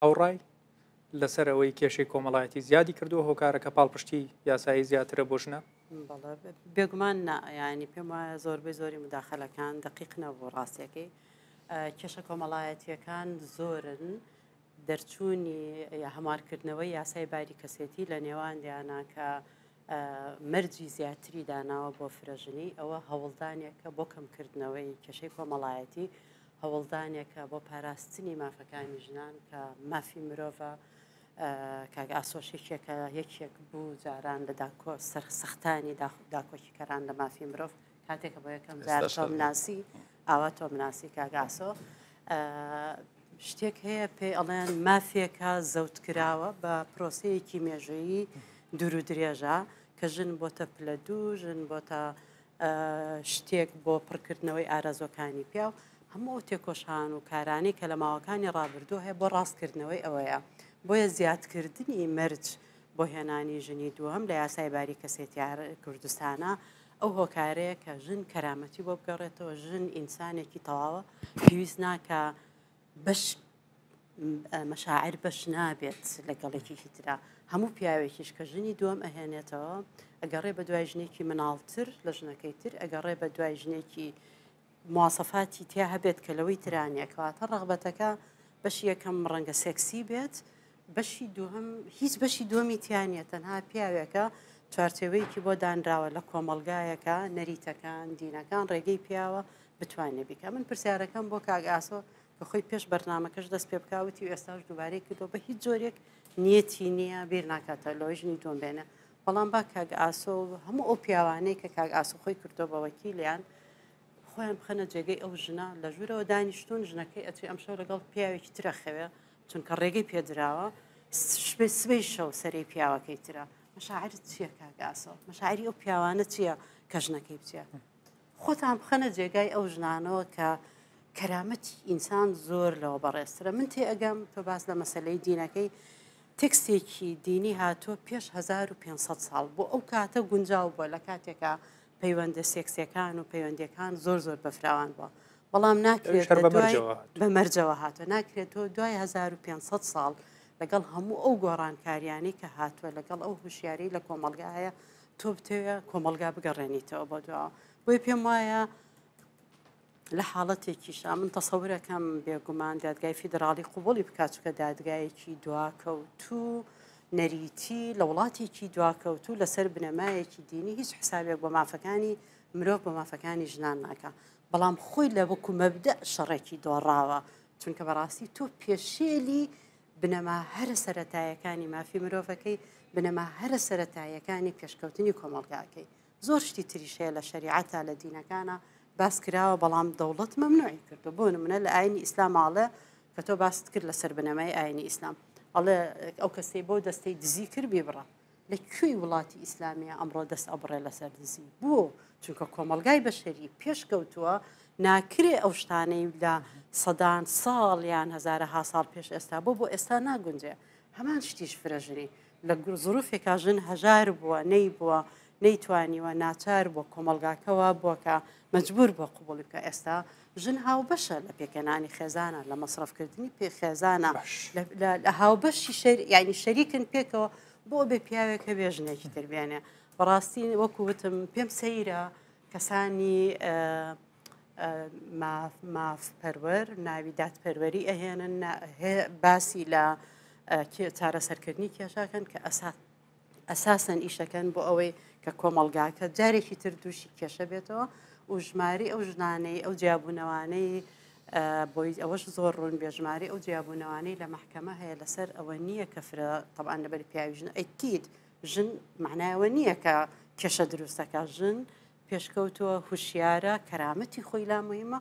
هاوڕای لەسەر ئەوەی کێشەی کۆمەڵایەتی زیادی کردووە هۆکارەکە پاڵپشتی یاسایی زیاترە بۆ ژنە؟ بەڵێ بێگومان نا یانی پێم وایە زۆربەی زۆری مداخلەکان دقیق نەبوو ڕاستیەکەی کێشە کۆمەڵایەتیەکان زۆرن دەرچوونی یا هەموارکردنەوەی یاسای باری کەسێتی لە نێوان دیانە کە مەرجی زیاتری داناوە بۆ فرەژنی ئەوە هەوڵدانێکە بۆ کەمکردنەوەی کێشەی کۆمەڵایەتی هەوڵدانێکە بۆ پاراستنی مافەکانی ژنان کە مافی مرۆڤە کاک ئاسۆش یەکێکە یەکێک بوو جاران لە داکۆ سەرسەختانی داکۆکیکەران لە مافی مرۆڤ کاتێکە بۆ یەکەم جار تۆم ناسی ئاوا تۆم ناسی کاک ئاسۆ شتێک هەیە پێی ئەڵێن مافێکە زەوتکراوە بە پرۆسەیەکی مێژوویی دوور و درێژە کە ژن بۆتە پلە دوو ژن بۆتە شتێک بۆ پڕکردنەوەی ئارەزوەکانی پیاو، هەموو ئەو تێکۆشان و کارانەی کە لە ماوەکانی ڕابردوو هەیە بۆ ڕاستکردنەوەی ئەوەیە. بۆیە زیادکردنی مەرج بۆ هێنانی ژنی دووەم لە یاسای باری کەسێتی کوردستانە ئەو هۆکارەیە کە ژن کەرامەتی بۆ بگەڕێتەوە، ژن ئینسانێکی تەواوە، پێویست ناکا بەش مەشاعر بەش نابێت لەگەڵ یەکێکی ترا هەموو پیاوێکیش کە ژنی دووەم ئەهێنێتەوە ئەگەڕێ بە دوای ژنێکی مناڵتر لە ژنەکەی تر ئەگەڕێ بە دوای ژنێکی مواسەفاتی تیا هەبێت کە لەوەی ترانە کەواتە ڕغبەتەکە بەشی یەکەم ڕەنگە سێکسی بێت بەشی دووەم هیچ بەشی دووەمی تیانە تەنها پیاوێکە چوارچێوەیەکی بۆ دانراوە لە کۆمەلگایەکە نەریتەکان دینەکان ڕێگەی پیاوە بتوانێت بیکە من پرسیارەکەم بۆ کاک ئاسۆ کە خۆی پێش بەرنامەکەش دەست پێ بکا وتی و ئێستاش دووبارەی کردەوە بە هیچ جۆرێک نیەتی نییە بیر ناکاتەوە لەوەی ژنی دووەم بێنێ بەڵام با کاک ئاسۆ و هەموو ئەو پیاوانەی کە کاک ئاسۆ خۆی کردووە بە وەکیلیان خۆیان بخەنە جێگەی ئەو ژنە لە ژوورەوە دانیشتون ژنەکەی ئەچێ ئەمشەو لەگەڵ پیاوێکی ترە خەوێ چونکە ڕێگەی پێدراوە سبەی شەو سەرەی پیاوەکەی ترە مەشاعرت چییە کاک ئاسۆ مەشاعری ئەو پیاوانە چییە کە ژنەکەی بچێ خۆتان بخەنە جێگای ئەو ژنانەوە کە کەرامەتی ئینسان زۆر لەوە بەڕێزترە من تێ ئەگەم تۆ باس لە مەسلەی دینەکەی تێکستێکی دینی هاتووە پێش 1500 ساڵ بۆ ئەو کاتە گونجاو بووە لە کاتێکا پەیوەندە سێکسیەکان و پەیوەندیەکان زۆر زۆر بەفراوان بووە بەڵام ناکرێت بە مەرجەوە هاتووە ناکرێت تۆ دوای 1500 ساڵ لەگەڵ هەموو ئەو گۆڕانکاریانەی کە هاتووە لەگەڵ ئەو هوشیاری لە کۆمەڵگا هەیە تۆ بتەوێ کۆمەڵگا بگەڕێنیتەوە بۆ دواوە بۆیە پێم وایە لە حاڵەتێکیشا من تەسەورەکەم بێگومان دادگای فیدراڵی قوبڵی بکات چکە دادگایەکی دواکەوتوو نەریتی لە وڵاتێکی دواکەوتوو لەسەر بنەمایەکی دینی هیچ حسابێک بۆ مافەکانی مرۆڤ بۆ مافەکانی ژنان ناکە بەڵام خۆی لە وەکو مەبدە شەڕێکی دۆڕاوە چونکە بەڕاستی تۆ پێشێلی بنەما هەرە سەرەتایەکانی مافی مرۆڤەکەی، بنەما هەرە سەرەتاییەکانی پێشکەوتنی کۆمەڵگاکەی. زۆر شتی تریش هەیە لە شەریعەتا لە دینەکانا باس کراوە بەڵام دەوڵەت مەمنوعی کردووە. بۆ نمونە لە ئاینی ئیسلام ئاڵێ کە تۆ باست کرد لەسەر بنەمای ئاینی ئیسلام ئەڵێ ئەو کەسەی بۆ دەستەی دزی کرد بیبڕە. لە کوێی وڵاتی ئیسلامیە ئەمڕۆ دەست ئەبڕێ لەسەر دزی؟ بۆ؟ چونکە کۆمەڵگای بەشەری پێشکەوتووە ناکرێ ئەو شتانەی لە سەدان ساڵ یان هەزارەها ساڵ پێش ئێستا بۆ بۆ ئێستا ناگونجێ هەمان شتیش فرەژنی لە زروفێکا ژن هەژار بووە نەیبووە نەیتوانیوە ناچار بووە کۆمەڵگاکە وا بووە کە مەجبور بووە قبوڵی بکە ئێستا ژن هاوبەشە لە پێکهێنانی خێزانە لە مەسرەفکردنی پێ خێزانە لە هاوبەشی شەر یعنی شەریکن پێکەوە بۆ بێ پیاوێک هەبێ ژنێکی تر بێنێ بەڕاستی وەکو وتم پێم سەیرە کەسانی ماف پەروەر ناوی دادپەروەری ئەهێنن باسی لە چارەسەرکردنی کێشاکەن کە ئەسا ئەساسەن ئیشەکەن بۆ ئەوەی کە کۆمەڵگاکە جارێکی تر دووشی کێشە بێتەوە و ژماری ئەو ژنانەی ئەو جیابوونەوانەی بۆی ئەوەش زۆر ڕوون بێ ژماری ئەو جیابوونەوانەی لە مەحکەمە هەیە لەسەر ئەوە نییە کە فرە تەبان لەبەر پیاوی ژن ئەکید ژن معنایەوە نییە کە کێشە دروستەکە ژن پێشکەوتووە هوشیارە کەرامەتی خۆی لا مهمە.